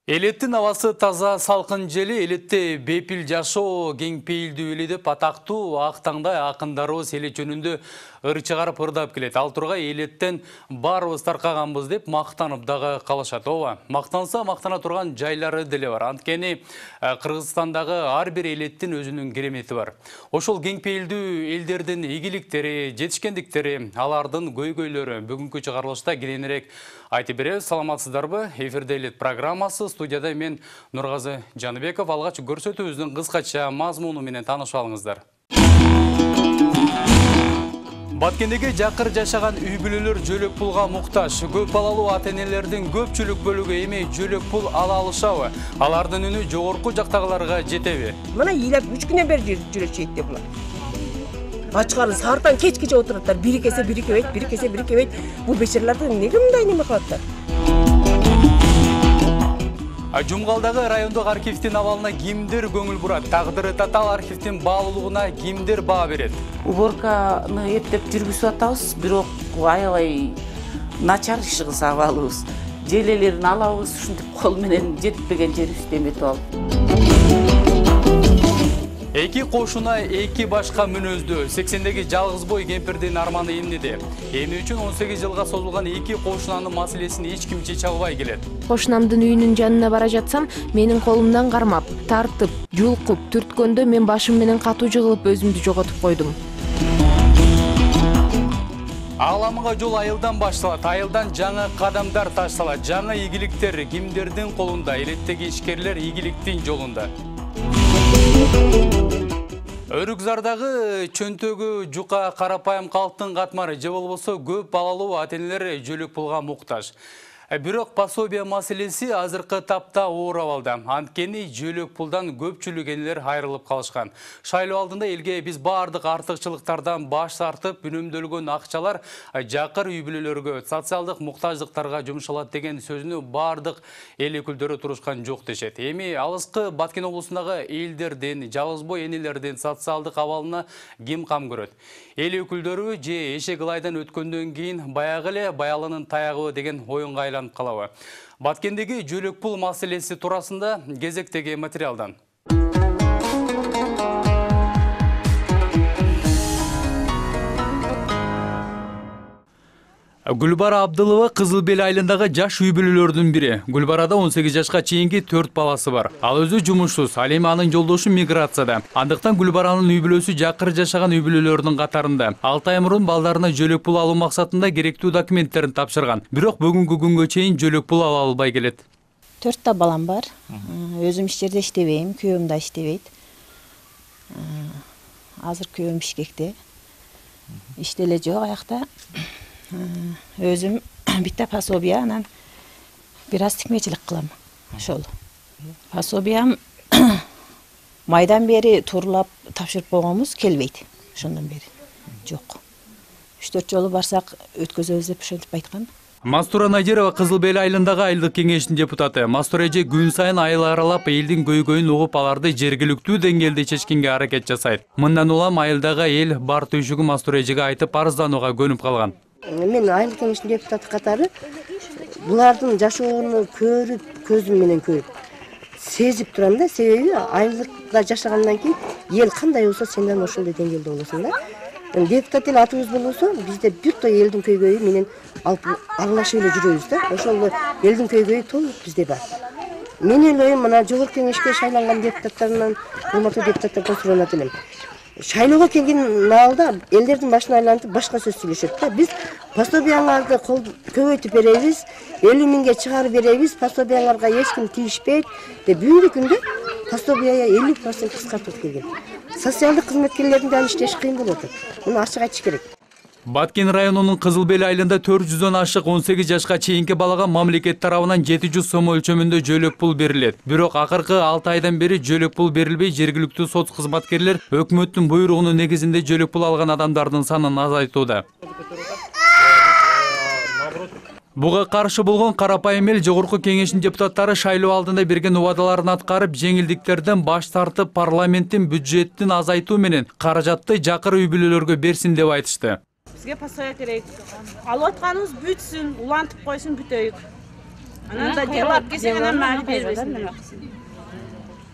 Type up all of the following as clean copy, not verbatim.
Элеттин абасы таза салкын жели, элетте бепил жашоо кең пейилдүү эли деп атактуу ак таңдай акындарыбыз элет жөнүндө ыр чыгарып ырдап келет. Ал тургай элеттен баарыбыз таркаганбыз деп мактанып дагы калышат. Ооба, мактанса мактана турган жайлары деле бар. Анткени Кыргызстандагы ар бир элеттин өзүнүн керемети бар. Ошол кең пейилдүү элдердин ийгиликтери, жетишкендиктери, алардын көйгөйлөрү бүгүнкү чыгарылышта кененирээк айтып беребиз. Саламатсыздарбы? Эфирде элет программасы. Студияда мен Нургазы Жаныбеков. Алгач көрсөтүүбүздүн кыскача мазмуну менен таанышып алыңыздар. Баткендеги жакыр жашаган үй бүлөлөр жөлөк пулга муктаж. Көп балалуу ата-энелердин көпчүлүк бөлүгү эми жөлөк пул ала алышабы? Алардын үнү жогорку жактагыларга жетеби? Мына ыйлап 3 күнөн бери жүрөшөйт деп булар. Ачкары саартан кечкече отураттар. Бири кесе бири кебейт, бири кесе бири кебейт. Бул бечераларды неге мындай неме кылаттар? Жумгалдагы райондук архивдин абалына кимдир көңүл бурат? Тагдыры татаал архивдин баалуулугуна кимдир баа берет? Уборканы эптеп жүргүзүп атабыз, бирок аябай начар иш кылса абалыбыз. Желелерин алабыз, ушинтип кол менен жетпеген жерибизди эметип алып. Эки кошуна эки башка мүнөздүү 80деги жалгыз бой кемпирдин арманы эмнеде? Эми үчүн 18 жылга созулган эки кошунанын маселесин эч ким чече албай келет. Кошунамдын үйүнүн жанына бара жатсам, менин колумдан кармап, тартып, жулкуп, түрткөндө мен башым менен катуу жыгылып өзүмдү жоготуп койдум. Ааламга жол айылдан башталат, айылдан жаңы кадамдар ташталат, жаңы ийгиликтер кимдердин колунда? Элеттеги ишкерлер ийгиликтин жолунда. Өрүкзардагы чөнтөгү жука карапайым калктын катмары же болбосо көп балалуу ата-энелер жөлөк пулга муктаж. Бирок пособия маселеси азыркы тапта оор абалда. Анткени жөлөк пулдан көпчүлүк энелер айрылып калышкан. Шайлоо алдында элге биз баардык артыкчылыктардан баш тартып, үнөмдөлгөн акчалар жакыр үй бүлөлөргө, социалдык муктаждыктарга жумшалат деген сөзүнө баардык эл өкүлдөрү турушкан жок дешет. Эми алыскы Баткен облусундагы элдердин, жалгыз бой энелердин социалдык абалына ким кам көрөт? Эл өкүлдөрү же эшек ылайдан өткөндөн кийин баягы эле баялынын таягыбы деген оюнга айланып калабы? Баткендеги жөлөк пул маселеси туурасында кезектеги материалдан. Гүлбара Абдылова Кызыл Бел айылындагы жаш үй бүлөлөрдүн бири. Гүлбарада 18 жашка чейинки 4 баласы бар. Ал өзү жумушсуз, ал эми анын жолдошу миграцияда. Андыктан Гүлбаранын үй бүлөсү жакыр жашаган үй бүлөлөрдүн катарында. 6 ай мурун балдарына жөлөк пул алуу максатында керектүү документтерин тапшырган. Бирок бүгүнкү күнгө чейин жөлөк пул ала албай келет. 4 балам бар. Өзүм иш жерде иштебейм, күйөөм да иштебейт. Азыр күйөөм Бишкекте. Иште эле жок аякта. Өзүм битте пособия, анан бир аз тикмечилик кылам. Ошол. Пособиям майдан бери турлап тапшырып койгонбуз, келбейт. Ошондон бери жок. 3-4 жолу барсак өткөзөбүз деп ошентип айткан. Мастура Надирова Кызыл Бел айылындагы айылдык кеңештин депутаты. Мастура эже күн сайын айыл аралап элдин көйгөйүн угуп, аларды жергиликтүү деңгээлде чечкенге аракет жасайт. Мындан улам айылдагы эл бар түйшүгү Мастура эжеге айтып арызданууга көнүп калган. Мен айылдык кеңештин депутаты катары булардын жашоону көрүп, көзүм менен көрүп, сезип турам да. Себеби айылдыкта жашагандан кийин эл кандай болсо, сенден ошондой деңгээлде болосуң да. Депутат эл атыбыз болсо, бизде бир той элдин көйгөйү менен алып аралашып эле жүрөбүз да. Ошол элдин көйгөйү толук бизде бар. Менин оюм мына жогорку кеңешке шайланган депутаттарынан, урматтуу депутаттардан суранат элем. Шайлоого келген маалда элдердин башына айлантып башка сөз сүйлөшөт да. Биз пособияңарды көбөйтүп беребиз, 50 миңге чыгарып беребиз, пособияңарга эч ким тийишпейт деп бүгүнкү күндө пособияга 50% кыскартып келген. Социалдык кызматкерлердин да иштеш кыйын болуп атат. Муну ачык айтыш керек. Баткен районунун Кызыл Бел айылында 400дөн ашык 18 жашка чейинки балага мамлекет тарабынан 700 сом өлчөмүндө жөлөк пул берилет. Бирок акыркы 6 айдан бери жөлөк пул берилбей, жергиликтүү сот кызматкерлер өкмөттүн буйругунун негизинде жөлөк пул алган адамдардын санын азайтууда. Буга каршы болгон карапайым эл жогорку кеңештин депутаттары шайлоо алдында берген убадаларын аткарып, жеңилдиктерден баш тартып, парламенттин бюджеттин азайтуу менен каражатты жакыр үй бүлөлөргө берсин деп айтышты. Бизге пособия керек. Алып атканыбыз бүтсүн, улантып койсун, бүтөйүк. Анан да жабап келсең анан мали бербесин.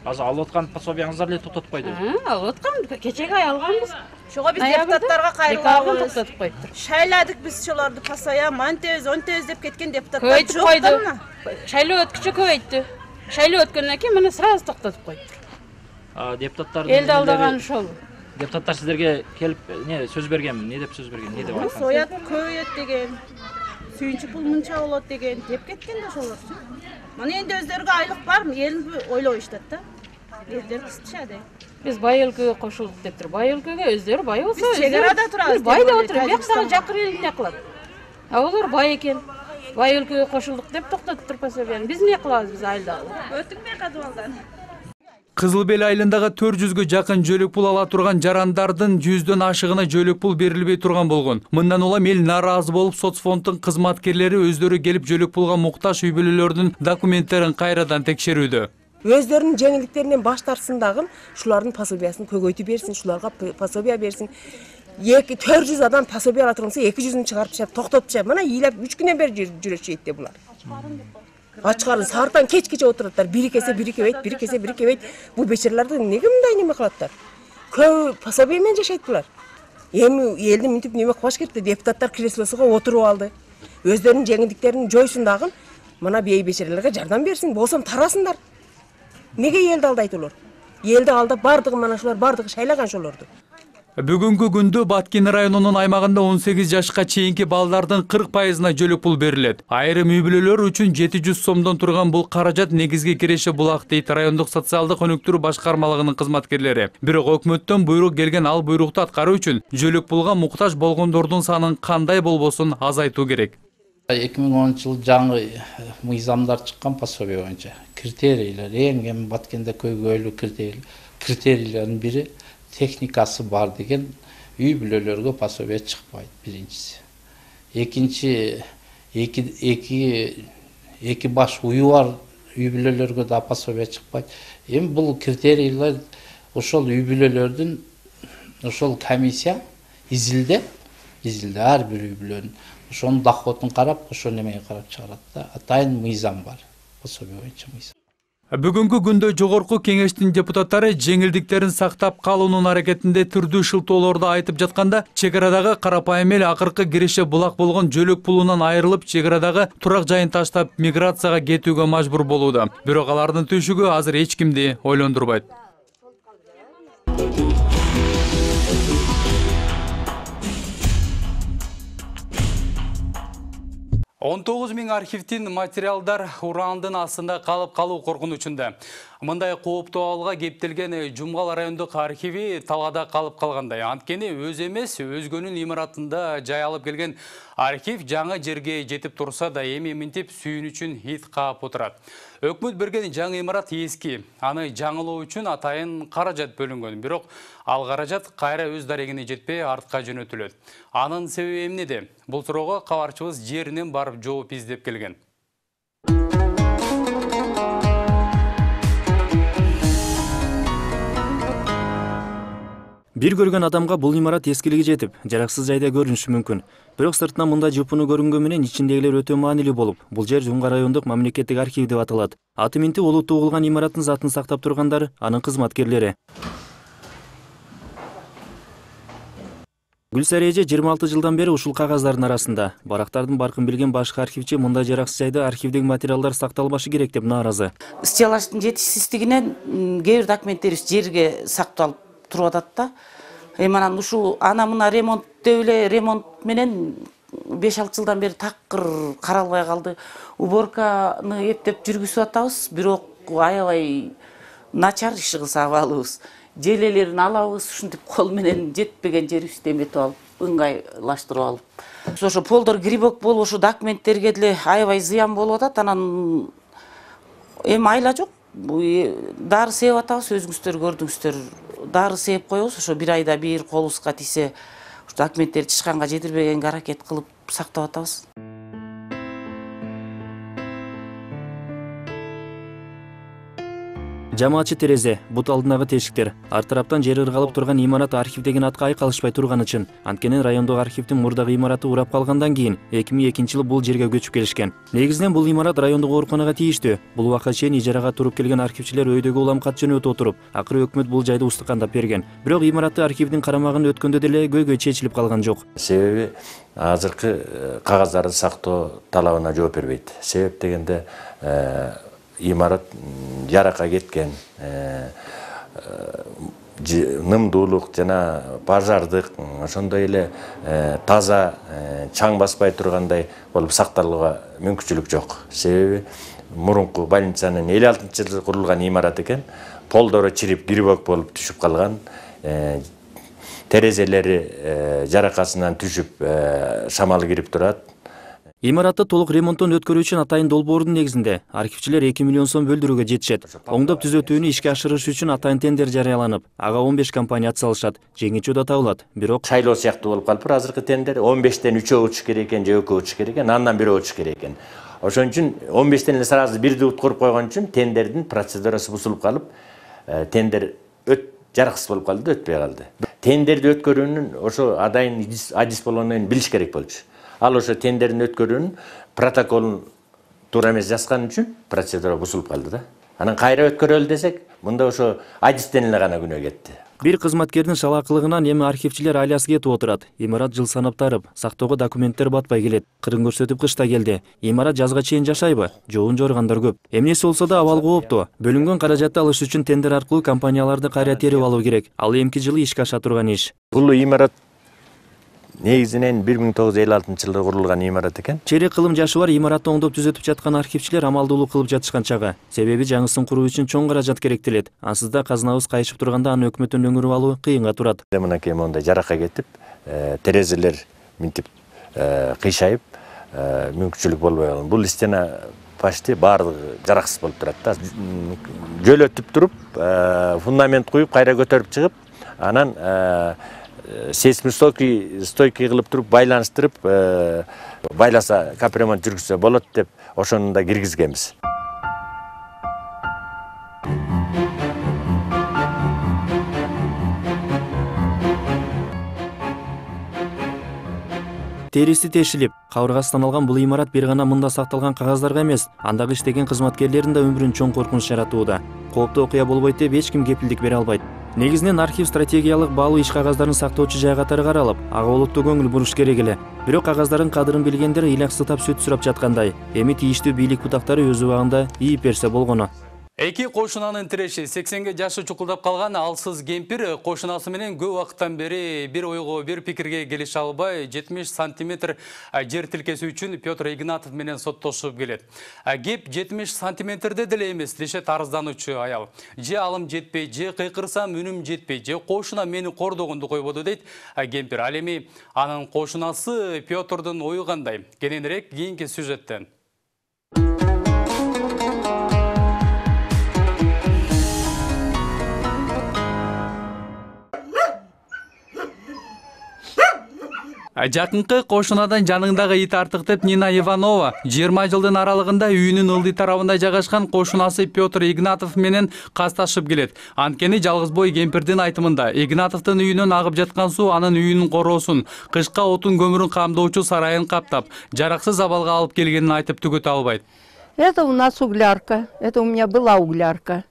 Азыр алып аткан пособияңыздар эле токтотуп койду. Алып аткам, кечеге алганбыз. Ошого биз депутаттарга кайрылабыз. Токтотуп коюптур. Шайладык биз шолорду постоянно монтез, онтез деп кеткен депутаттар Көбөйтүп жок койду. да мына. Шайлоо өткүчө көбөйттү. Шайлоо өткөндөн кийин мына сразу токтотуп коюптур. Депутаттар Элди алдаган ошол. Депутаттар сиздерге келип сөз берген, эмне деп сөз берген, эмне деп айткан? Соят көбөйөт деген. Сүйүнчү пул мынча болот деген деп кеткен да ошолорчу. Мына энди өздөрүгө айлык бар, элин ойлобуштат да. Элдер кыстышады. Биз бай өлкөгө кошулдук дептир. Бай өлкөгө өздөрү бай болсо, Биз чегарада турабыз. Биз бай деп отуруп, бияктагы жакын эл эмне кылат? Олар бай экен. Бай өлкөгө кошулдук деп токтотуптур пособияны. Биз эмне кылабыз, биз айылдагы? Өтүңбөй катып алган. Кызыл Бел айылындагы 400гө жакын жөлөк пул ала турган жарандардын 100дөн ашыгына жөлөк пул берилбей турган болгон. Мындан улам эл нааразы болуп, соцфонддун кызматкерлери өздөрү келип жөлөк пулга муктаж үй бүлөлөрдүн документтерин кайрадан текшерүүдө. Өздөрүнүн жеңилдиктеринен баш тартсын дагы, шулардын пособиясын көгөйтүп берсин, шуларга пособия берсин. 400 адам пособия ала турганса 200-ün чыгарып ташап, токтотуп ташап, мына ыйлап 3 күндөн бери жүрөшөйт да булар. Ачкарын саартан кечкече отураттар, бири кесе бири кебейт, бири кесе бири кебейт. Бул бечераларды неге мындай неме кылаттар? Көп пособия менен жашайт булар. Эми элди мынтип неме кылбаш керек да, депутаттар креслосуга отуруп алды. Өздөрүнүн жеңилдиктерин жойсун дагы, мына бей бечераларга жардам берсин, болсом тарасындар. Неге элди алдайт улар? Элди алдап бардыгы мана шулар бардыгы шайлаган шолорду. Бүгүнкү күндө Баткен районунун аймагында 18 жашка чейинки балдардын 40%-на жөлөк пул берилет. Айрым үй бүлөлөр үчүн 700 сомдон турган бул каражат негизги киреше булак дейт райондук социалдык өнүктүрүү башкармалыгынын кызматкерлери. Бирок өкмөттөн буйрук келген ал буйрукту аткаруу үчүн жөлөк пулга муктаж болгондордун санын кандай болбосун азайтуу керек. 2010-жылы жаңы мыйзамдар чыккан пособия боюнча критерийлер, эң Баткенде көйгөйлүү критерийлердин бири техникасы бар деген үй бүлөлөргө пособия чыкпайт биринчиси. Экинчи эки баш уyu бар үй бүлөлөргө да пособия чыкпайт. Эми бул критерийлер ошол үй бүлөлөрдүн ошол комиссия изилдеп ар бир үй бүлөнүн ошонун доходун карап, ошол немеге карап чыгарат да. Атайын мыйзам бар. Пособия боюнча мыйзам. Бүгүнкү күндө жогорку кеңештин депутаттары жеңилдиктерин сактап калуунун аракетинде түрдүү шылтоолорду айтып жатканда, чек арадагы карапайым эл акыркы киреше булак болгон жөлөк пулунан айрылып, чек арадагы турак жайын таштап миграцияга кетүүгө мажбур болууда. Бирок алардын түшүгү азыр эч кимди ойлондурбайт. 19.000 архивдин материалдар урандын астында калып калуу коркунучунда. Мындай кооптуу абалга кептелген Жумгал райондук архиви талада калып калгандай. Анткени өз эмес, өзгөнүн имаратында жай алып келген архив жаңы жерге жетип турса да эми мынтип сүйүнүчүн ит каап отурат. Өкмөт берген жаңы имарат эски. Аны жаңылоо үчүн атайын каражат бөлүнгөн. Бирок ал каражат кайра өз дарегине жетпей артка жөнөтүлөт. Анын себеби эмнеде? Бул суроого кабарчыбыз жеринен барып жооп издеп келген. Бир көргөн адамга бул имарат эскилиги жетип, жараксыз жайда көрүнүшү мүмкүн. Бирок сыртынан мындай жупуну көрүнгөн менен ичиндегилер өтө маанилүү болуп, бул жер Жумгал райондук мамлекеттик архив деп аталат. Аты минти олуттуу угулган имараттын затын сактап тургандар, анын кызматкерлери. Гүлсара эже 26 жылдан бери ушул кагаздардын арасында. Барактардын баркын билген башкы архивчи мындай жараксыз жайда архивдеги материалдар сакталбашы керек деп нааразы. Стеллаждын жетишсиздигинен кээ бир документтерибиз жерге сакталып туруп атат да. Анан ушул ана-мына ремонт деп эле ремонт менен 5-6 жылдан бери такыр каралбай калды. Уборканы эптеп жүргүзүп атабыз, бирок аябай начар иш кылса абалыбыз. Желелерин алабыз, ушинтип кол менен жетпеген жерибизди эметип алып, ыңгайлаштырып алып. Ошо полдор грибок болуп, ошо документтерге деле аябай зыян болуп атат. Анан эми айла жок. Дары сээп атабыз, өзүңүздөр көрдүңүздөр. Дары сээп коебуз, ошо бир айда бир колубузга тийсе, документтерди тышканга жетирбегенге аракет кылып сактап атабыз. Жамаатчы терезе, бут алдындагы тешиктер, ар тараптан жери ыргалып турган имарат архив деген атка айкалышпай турганы үчүн. Анткени райондогу архивдин мурдагы имараты урап калгандан кийин 2002-жылы бул жерге көчүп келишкен. Негизинен бул имарат райондогу ооруканага тийиштүү. Бул убакка чейин ижарага туруп келген архивчилер өйдөгө улам кат жөнөтүп отуруп, акыры өкмөт бул жайды устукандап берген. Бирок имаратты архивдин карамагын өткөндө деле көйгөй чечилип калган жок. Себеби азыркы кагаздарды сактоо талабына жооп бербейт. Себеп дегенде имарат жаракка кеткен, нымдуулук жана пожардык, ошондой эле таза чаң баспай тургандай болуп сакталууга мүмкүнчүлүк жок. Себеби мурунку больницанын 56-жылы курулган имарат экен, полдору чирип, грибок болуп түшүп калган, терезелери жаракасынан түшүп, шамал кирип турат. Имаратты толук ремонттон өткөрүү үчүн атайын долбоордун негизинде архивчилер 2 миллион сом бөлдүрүүгө жетишет. Оңдоп түзөтүүнү ишке ашырыш үчүн атайын тендер жарыяланып, ага 15 компания атсалышат. Жеңүүчү да табылат. Бирок шайлоо сыяктуу болуп калыптыр азыркы тендер. 15тен 3 учуш керек экен, же 2 учуш керек экен, андан бирөө учуш керек экен. Ошон үчүн 15тен эле сразу бирди уткуруп койгон үчүн тендердин процедурасы бузулуп калып, тендер жараксыз болуп калды да өтпөй калды. Тендерди өткөрүүнүн ошо адайын адис болгондон кийин билиш керек болчу. Ал ошо тендердин өткөрүүнүн протоколун туура эмес жазган үчүн процедура бузулуп калды да. Анан кайра өткөрөлү десек, мында ошо адистен эле гана күнөө кетти. Бир кызматкердин шалаакылыгынан эми архивчилер алиясы кетип отурат. Имарат жыл санап тарып, сактоого документтер батпай келет. Кырын көрсөтүп кышта келди. Имарат жазга чейин жашайбы? Жоон жоргандар көп. Эмнеси болсо да абал кооптуу. Бөлүнгөн каражатты алыш үчүн тендер аркылуу компанияларды кайра терип алуу керек. Ал эмки жылы ишке аша турган иш. Бул имарат негизинен 1956-жылы курулган имарат экен. Чейрек кылым жашы бар имаратты оңдоп түзөтүп жаткан архивчилер амалдуулук кылып жатышкан чагы. Себеби жаңысын куруу үчүн чоң каражат керектелет. Ансыз да казынабыз кайышып турганда аны өкмөттөн өңүрүп алуу кыйынга турат. Мынакей мондай жаракка кетип, терезелер минтип кыйшайып, мүмкүнчүлүк болбой калган. Бул стена почти баардыгы жараксыз болуп турат да. Жөлөтүп туруп, фундамент куюп, кайра көтөрүп чыгып, анан сейсмостойкий кылып туруп байланыштырып, байласа капремонт жүргүзсө болот деп ошону да киргизгенбиз. Териси тешилип, кабыргасынан алган бул имарат бир гана мында сакталган кагаздарга эмес, андагы иштеген кызматкерлердин да өмүрүн чоң коркунуч жаратууда. Кооптуу окуя болбойт деп эч ким кепилдик бере албайт. Негизинен архив стратегиялык баалуу иш кагаздарын сактоочу жай катары каралып, ага олуттуу көңүл буруш керек эле. Бирок кагаздардын кадырын билгендер ыйлаксытап сүт сурап жаткандай. Эми тийиштүү бийлик бутактары өз убагында ийип берсе болгону. Эки кошунанын тиреши 80ге жашы чукулдап калган алсыз кемпир кошунасы менен көп убакыттан бери бир ойго, бир пикирге келише албай 70 сантиметр жер тилкеси үчүн Петр Игнатов менен соттошуп келет. Кеп 70 сантиметрде деле эмес дешет арыздануучу аял. Же алым жетпей, же кыйкырсам үнүм жетпей, же кошуна мени кордогонду койбоду дейт кемпир. Ал эми анын кошунасы Петрдун ою кандай? Кененирээк кийинки сюжеттен. Жакынкы кошунадан жаныңдагы ит артык деп Нина Иванова 20 жылдын аралыгында үйүнүн ылдый тарабында жайгашкан кошунасы Петр Игнатов менен касташып келет. Анткени жалгыз бой кемпирдин айтымында Игнатовдун үйүнөн агып жаткан суу анын үйүнүн короосун, кышка отун көмүрүн камдоочу сарайын каптап, жараксыз абалга алып келгенин айтып түгөтө албайт. Это у нас углярка. Это у меня была углярка.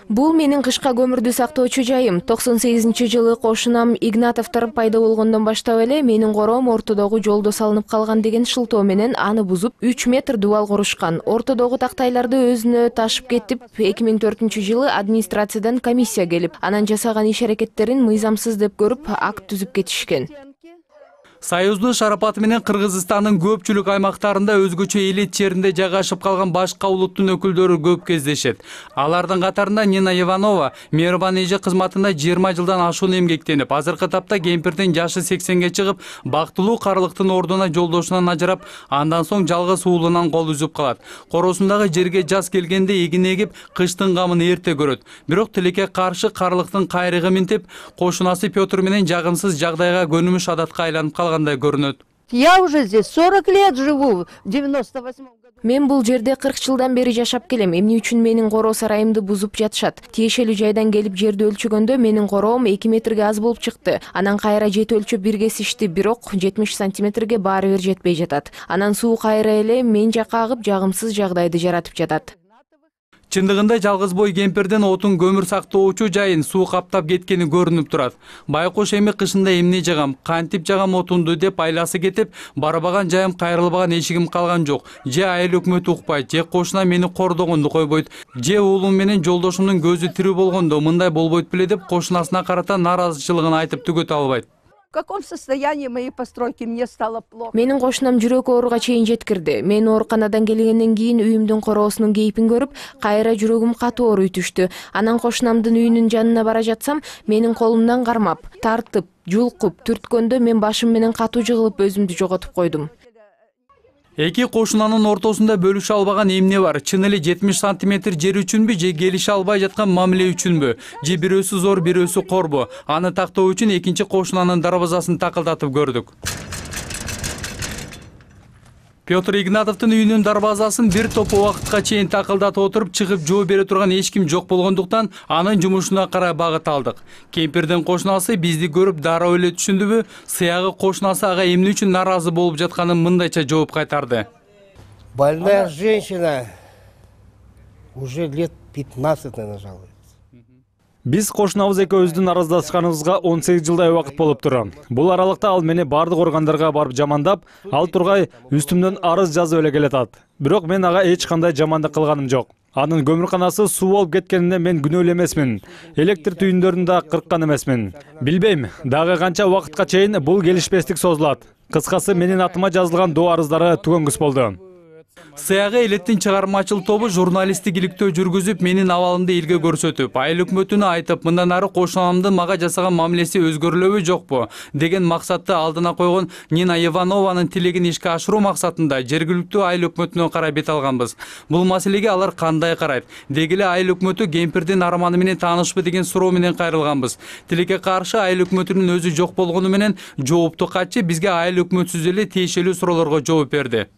Бул менин кышка көмүрдү сактоочу жайым. 98-жылы кошунам Игнатовдор пайда болгондон баштап эле менин короом ортодогу жолдо салынып калган деген шылтоо менен аны бузуп 3 метр дубал курушкан. Ортодогу тактайларды өзүнө ташып кетип, 2004-жылы администрациядан комиссия келип, анан жасаган иш аракеттерин мыйзамсыз деп көрүп, акт түзүп кетишкен. Союздун шарапаты менен Кыргызстандын көпчүлүк аймактарында өзгөчө элит жеринде жайгашып калган башка улуттун өкүлдөрү көп кездешет. Алардын катарында Нина Иванова мейрибан эже кызматында 20 жылдан ашуун эмгектенип, азыркы тапта кемпирдин жашы 80ге чыгып, бактылуу карлыктын ордуна жолдошунан ажырап, андан соң жалгыз уулунан кол үзүп калат. Короосундагы жерге жаз келгенде эгин эгип, кыштын камын эрте көрөт. Бирок тилекке каршы карлыктын кайрыгы минтип, кошунасы Петр менен жагымсыз жагдайга көнүмүш адатка айланып калган. Я уже здесь 40 лет живу, в 98 году. Мен бул жерде 40 жылдан бери жашап келем. Эмне үчүн менин короо сарайымды бузуп жатышат? Тиешелүү жайдан келип жерди өлчөгөндө менин короом 2 метрге аз болуп чыкты. Анан кайра жет өлчөп бир кесишти, бирок 70 сантиметрге баары бир жетпей жатат. Анан суу кайра эле мен жакка агып, жагымсыз жагдайды жаратып жатат. Чындыгында жалгыз бой кемпирдин отун көмүр сактоочу жайын суу каптап кеткени көрүнүп турат. Байкуш эми кышында эмне жагам, кантип жагам отунду деп айласы кетип, барбаган жайым, кайрылбаган эшигим калган жок. Же айыл өкмөт укпайт, же кошуна мени кордогонду койбойт, же уулум менен жолдошумдун көзү тирүү болгондо мындай болбойт беле деп кошунасына карата нааразычылыгын айтып түгөтө албайт. В каком состоянии мои постройки, мне стало плохо. Менин кошунам жүрөк ооруга чейин жеткирди. Мен ооруканадан келгенден кийин үйүмдүн короосунун кейпин көрүп, кайра жүрөгүм катуу ооруй түштү. Анан кошунамдын үйүнүн жанына бара жатсам, менин колумдан кармап, тартып, жулкуп, түрткөндө мен башым менен катуу жыгылып өзүмдү жоготуп койдум. Эки кошунанын ортосунда бөлүшө албаган эмне бар? Чын эле 70 сантиметр жер үчүнбү, же келише албай жаткан мамиле үчүнбү? Же бирөөсү зор, бирөөсү корбу? Аны тактоо үчүн экинчи кошунанын дарбазасын такылдатып көрдүк. Петр Игнатовдун үйүнүн дарбазасын бир топ убакытка чейин такылдатып отуруп, чыгып жооп бере турган эч ким жок болгондуктан анын жумушуна карай багыт алдык. Кемпирдин кошунасы бизди көрүп дароо эле түшүндүбү? Сыягы кошунасы ага эмне үчүн нааразы болуп жатканын мындайча жооп кайтарды. Больная женщина уже лет 15 жалуется. Биз кошунабыз экөөбүздүн араздашканыбызга 18 жылдай убакыт болуп турат. Бул аралыкта ал мени бардык органдарга барып жамандап, ал тургай үстүмдөн арыз жазып эле келатат. Бирок мен ага эч кандай жамандык кылганым жок. Анын көмүрканасы суу болуп кеткенине мен күнөөлүү эмесмин. Электр түйүндөрүн да кырккан эмесмин. Билбейм, дагы канча убакытка чейин бул келишпестик созулат. Кыскасы менин атыма жазылган доо арыздары түгөнгүс болду. Сыягы элеттин чыгармачыл тобу журналисттик иликтөө жүргүзүп, менин абалымды элге көрсөтүп, айыл өкмөтүнө айтып, мындан ары кошунамдын мага жасаган мамилеси өзгөрүлөбү жокпу деген максатты алдына койгон Нина Иванованын тилегин ишке ашыруу максатында жергиликтүү айыл өкмөтүнө карай бет алганбыз. Бул маселеге алар кандай карайт? Деги эле айыл өкмөтү кемпирдин арманы менен таанышпы деген суроо менен кайрылганбыз. Тилекке каршы айыл өкмөтүнүн өзү жок болгону менен жоопту катчы бизге айыл өкмөтсүз эле тиешелүү суроолорго жооп берди.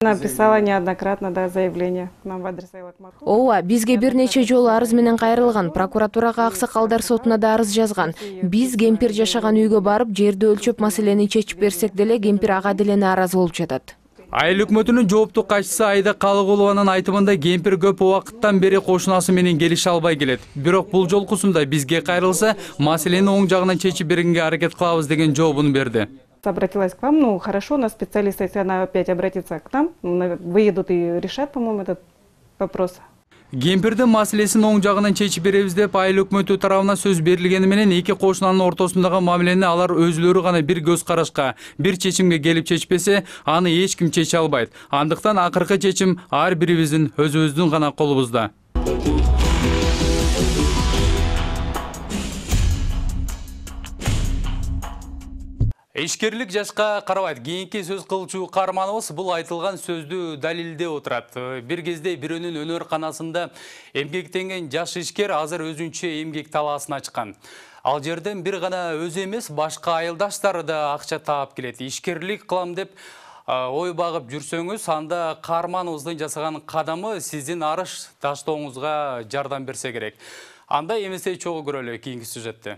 Написала неоднократно заявление нам в адрес Айлакмату. Ооба, бизге бир нече жолу арыз менен кайрылган, прокуратурага, Аксакалдар сотуна да арыз жазган. Биз кемпир жашаган үйгө барып, жерди өлчөп маселени чечип берсек деле, кемпир ага деле нааразы болуп жатат. Айыл өкмөтүнүн жооптуу катчысы Айда Калыгулованын айтымында кемпир көп убакыттан бери кошунасы менен келише албай келет. Бирок бул жолкусунда бизге кайрылса, маселени оң жагынан чечип бергенге аракет кылабыз деген жообун берди. Обратилась к вам, ну хорошо, на специалиста, если она опять обратится к нам, выедут и решат, по-моему, этот вопрос. Кемпирдин маселесин оң жагынан чечип беребиз деп айыл өкмөтү тарабына сөз берилгени менен эки кошунанын ортосундагы мамилени алар өзүлөрү гана бир көз карашка, бир чечимге келип чечпесе, аны эч ким чече албайт. Андыктан акыркы чечим ар бирибиздин өзүбүздүн гана колубузда. Ишкерлик жашка карабайт. Кийинки сөз кылчу каарманыбыз бул айтылган сөздү далилдеп отурат. Бир кезде бирөөнүн өнөр-канасында эмгектенген жаш ишкер азыр өзүнчө эмгек талаасын ачкан. Ал жерден бир гана өзү эмес, башка айылдаштары да акча таап келет. Ишкерлик кылам деп ой багып жүрсөңүз, анда каарманыбыздын жасаган кадамы сиздин арыш таштооңузга жардам берсе керек. Анда эмесе чогуу көрөлү кийинки сюжетте.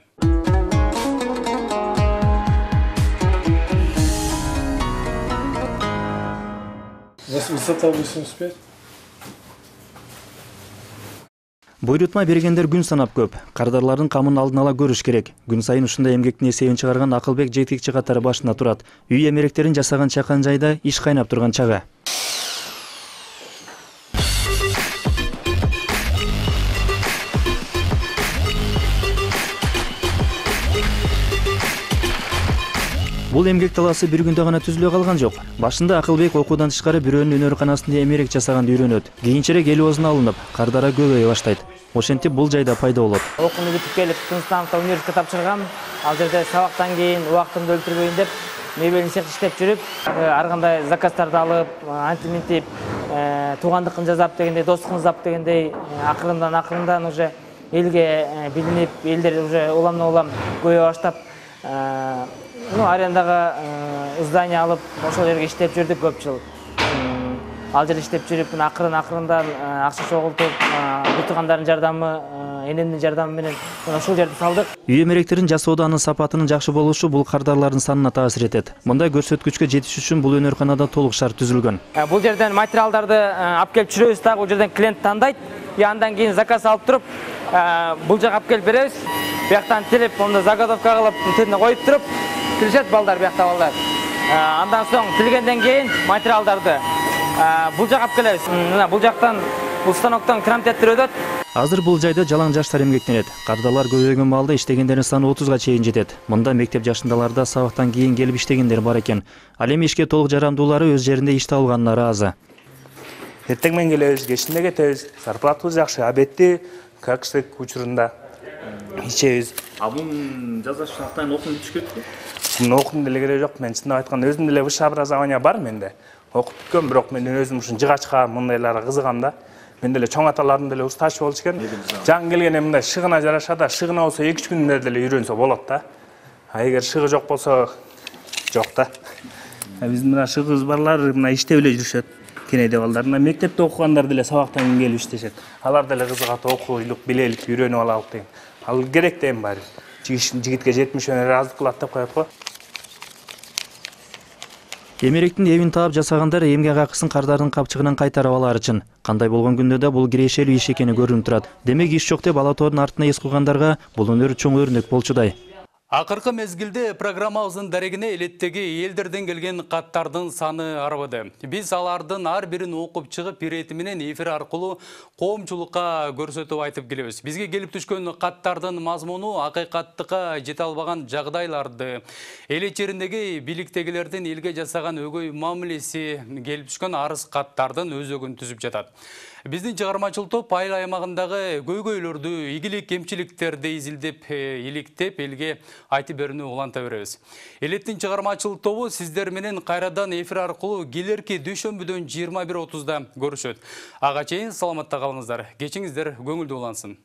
Высота 85. Буйрутма бергендер күн санап көп. Кардарлардын камын алдын ала көрүш керек. Күн сайын ушундай эмгектин эсебин чыгарган Акылбек жетекчи катары башында турат. Үй эмеректерин жасаган чакан жайда иш кайнап турган чага. Бул эмгек талаасы бир күндө гана түзүлө калган жок. Башында Акылбек окуудан тышкары бирөөнүн өнөр-канасында эмерек жасаганды үйрөнөт. Кийинчерээк эл оозуна алынып, кардара көбөйө баштайт. Ошентип бул жайда пайда болот. Окууну бүтүп келип, Тынчтановдо университетке тапшыргам. Ал жерде сабактан кийин убактымды өлтүрбөйүн деп, мебелин цех иштеп жүрүп, ар кандай заказдарды алып, антиминтип, туугандыкын жазап дегендей, достукун жазап дегендей, акырындан уже элге билинип, элдер уже улам көбөйө баштап, арендага здание алып, ошол жерге иштеп жүрдүк көп жыл. ал жерде иштеп жүрүп акырындан акча чогултуп туугандардын жардамы энемдин жардамы менен ушул жерди салдык. Үй эмеректерин жасоодо анын сапатынын жакшы болушу бул кардарлардын санына таасир этет. Мындай көрсөткүчкө жетиш үчүн бул өнөрканада толук шарт түзүлгөн. Бул жерден материалдарды алып келип чүрөбүз, дагы бул жерден клиент тандайт. Андан кийин заказ алып туруп, бул жака алып келип беребиз. Бияктан тилип, онда заготовка кылып, тетине коюп туруп, тилишет балдар биякта балдар. Андан соң тилгенден кийин материалдарды бул жака алып келебиз. Мына бул жактан, бул станоктон крамтеттер өтөт. Азыр бул жайда жалаң жаштар эмгектенет. Кардалар көбөйгөн маалда иштегендердин саны 30га чейин жетет. Мында мектеп жашындаларда сабактан кийин келип иштегендер бар экен. Ал эми ишке толук жарамдуулары өз жеринде иш табылганына ыраазы. Эртең менен келебиз, кечинде кетебиз. Зарплатабыз жакшы, обедти какчтык учурунда ичебиз. Бунун жаза шактан окуп түшкөнбү? Муну окудум деле кереги жок. Мен чындап айтканда өзүм деле высшее образование бар менде. Окуп бүткөм, бирок мен өзүм ушун жыгачка мындайларга кызыгам да. Мен деле чоң аталарым деле устач болчу экен. Жаңы келгенде мындай шыгына жараша да, шыгына болсо 2-3 күндө деле үйрөнсө болот да. Эгер шыгы жок болсо жок да. Биздин мына шыгыбыз барлар мына иштеп эле жүрүшөт. Кенеде балдар мына мектепте окугандар деле сабактан кийин келип иштешет. Алар деле кызыгат, окуйлук, билелик, үйрөнүп алалык деген. Ал керек да эми баары. Жигитке 70 өнөр аздык кылат деп коет го. Эмеректин эбин таап жасагандар эмгек акысын кардардын капчыгынан кайтарып алар үчүн. Кандай болгон күндө да бул кирешелүү иш экени көрүнүп турат. Демек иш жок деп ала тоодун артына эс куйгандарга бул өнөр чоң өрнөк болчудай. Акыркы мезгилде программабыздын дарегине элеттеги элдерден келген каттардын саны арбыды. Биз алардын ар бирин окуп чыгып ирети менен эфир аркылуу коомчулукка көрсөтүп айтып келебиз. Бизге келип түшкөн каттардын мазмуну акыйкаттыкка жете албаган жагдайларды, эл ичерindеги бийликтегилердин элге жасаган өгөй мамилеси, келип түшкөн арыз каттардын өзөгүн түзүп жатат. Биздин чыгармачыл топ айыл аймагындагы көйгөйлөрдү, ийгилик кемчиликтерди изилдеп, иликтеп, элге айтып берүүнү уланта беребиз. Элеттин чыгармачыл тобу сиздер менен кайрадан эфир аркылуу келерки дүйшөмбүдөн 21:30да көрүшөт. Ага чейин саламатта калыңыздар. Кечиңиздер көңүлдүү улансын.